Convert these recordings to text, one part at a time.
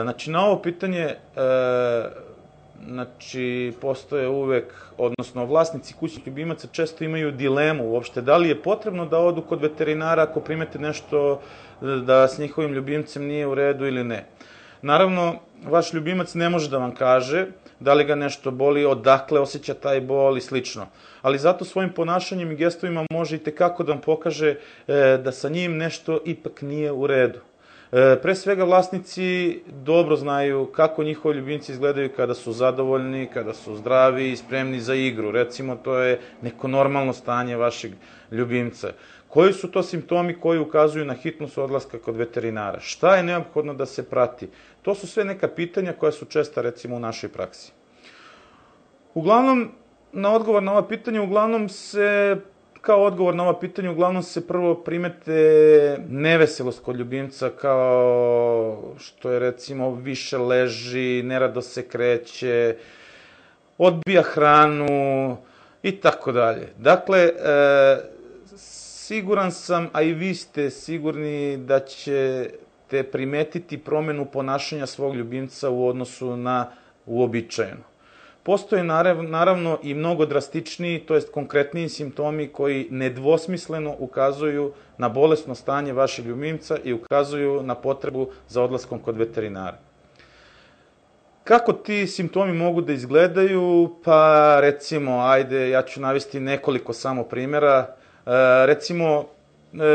Znači, na ovo pitanje, znači, postoje uvek, odnosno vlasnici kućnih ljubimaca često imaju dilemu uopšte, da li je potrebno da odu kod veterinara ako primete nešto da s njihovim ljubimcem nije u redu ili ne. Naravno, vaš ljubimac ne može da vam kaže da li ga nešto boli, odakle osjeća taj bol i slično. Ali zato svojim ponašanjem i gestovima može i tekako da vam pokaže da sa njim nešto ipak nije u redu. Pre svega, vlasnici dobro znaju kako njihovi ljubimci izgledaju kada su zadovoljni, kada su zdravi i spremni za igru. Recimo, to je neko normalno stanje vašeg ljubimca. Koji su to simptomi koji ukazuju na hitnost odlaska kod veterinara? Šta je neophodno da se prati? To su sve neka pitanja koja su česta, recimo, u našoj praksi. Uglavnom, kao odgovor na ova pitanja, uglavnom se prvo primete neveselost kod ljubimca, kao što je, recimo, više leži, nerado se kreće, odbija hranu i tako dalje. Dakle, siguran sam, a i vi ste sigurni da ćete primetiti promenu ponašanja svog ljubimca u odnosu na uobičajeno. Postoje naravno i mnogo drastičniji, to jest konkretniji simptomi koji nedvosmisleno ukazuju na bolesno stanje vašeg ljubimca i ukazuju na potrebu za odlaskom kod veterinara. Kako ti simptomi mogu da izgledaju? Pa recimo, ja ću navesti nekoliko samo primjera. Recimo,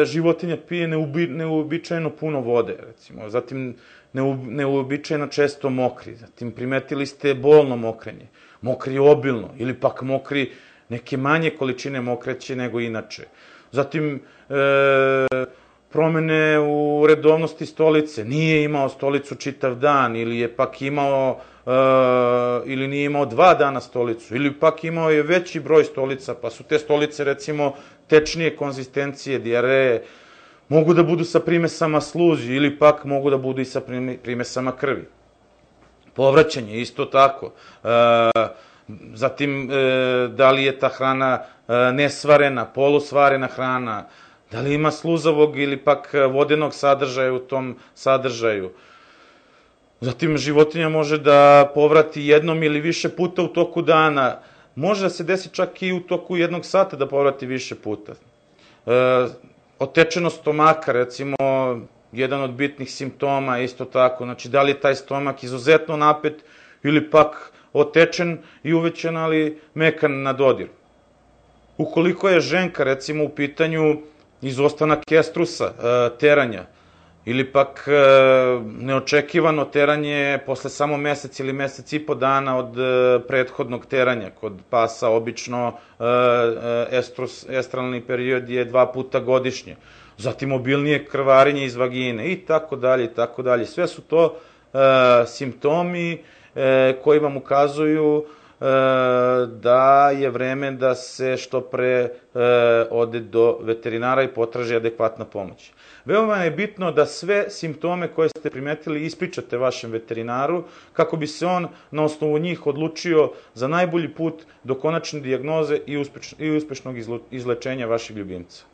životinja pije neuobičajeno puno vode, recimo, zatim neuobičajeno često mokri, zatim primetili ste bolno mokrenje, mokri obilno ili pak mokri neke manje količine mokreće nego inače. Zatim promene u redovnosti stolice, nije imao stolicu čitav dan ili je pak imao ili nije imao 2 dana stolicu, ili pak imao je veći broj stolica, pa su te stolice, recimo, tečnije konzistencije, dijareje, mogu da budu sa primesama sluzi ili pak mogu da budu i sa primesama krvi. Povraćanje, isto tako. Zatim, da li je ta hrana nesvarena, polusvarena hrana, da li ima sluzavog ili pak vodenog sadržaja u tom sadržaju. Zatim, životinja može da povrati jednom ili više puta u toku dana. Može da se desi čak i u toku 1 sata da povrati više puta. Otečenost stomaka, recimo, jedan od bitnih simptoma, isto tako. Znači, da li je taj stomak izuzetno napet ili pak otečen i uvećan, ali mekan na dodir. Ukoliko je ženka, recimo, u pitanju izostanak estrusa, teranja, ili pak neočekivano teranje posle samo mesec ili mesec i po dana od prethodnog teranja. Kod pasa obično estralni period je 2 puta godišnje. Zatim obilnije krvarenje iz vagine i tako dalje i tako dalje. Sve su to simptomi koji vam ukazuju da je vreme da se što pre ode do veterinara i potraži adekvatna pomoć. Veoma je bitno da sve simptome koje ste primetili ispričate vašem veterinaru, kako bi se on na osnovu njih odlučio za najbolji put do konačne dijagnoze i uspešnog izlečenja vašeg ljubimca.